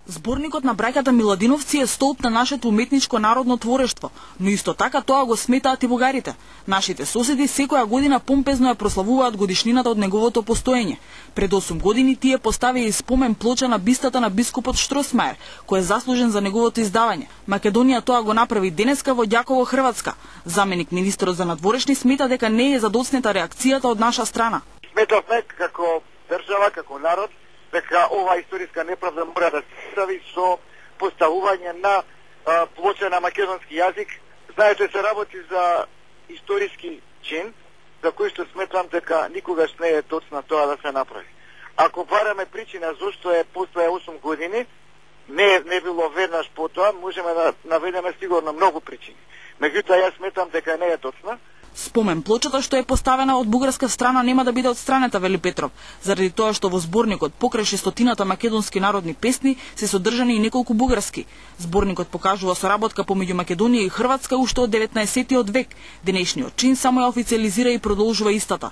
Зборникот на браќата Миладиновци е столб на нашето уметничко народно творештво, но исто така тоа го сметаат и бугарите. Нашите соседи секоја година помпезно ја прославуваат годишнината од неговото постоење. Пред 8 години тие поставија и спомен плоча на бистата на бискупот Штросмајер, кој е заслужен за неговото издавање. Македонија тоа го направи денеска во Ѓаково, Хрватска. Заменик министерот за надворешни смета дека не е задоцнета реакцијата од наша страна. Сметавме како држава, како народ, дека ова историска неправда мора да се стави со поставување на плоча на македонски јазик. Знаете, се работи за историски чин, за кој што сметам дека никогаш не е точно тоа да се направи. Ако бараме причина зошто е постоја 8 години, не било веднаш потоа, можеме да наведеме сигурно многу причини. Меѓутоа, јас сметам дека не е точна. Спомен плочата што е поставена од бугарска страна нема да биде отстранета, вели Петров, заради тоа што во зборникот покрај 600 македонски народни песни се содржани и неколку бугарски. Зборникот покажува соработка помеѓу Македонија и Хрватска уште од 19 век. Денешниот чин само ја официализира и продолжува истата.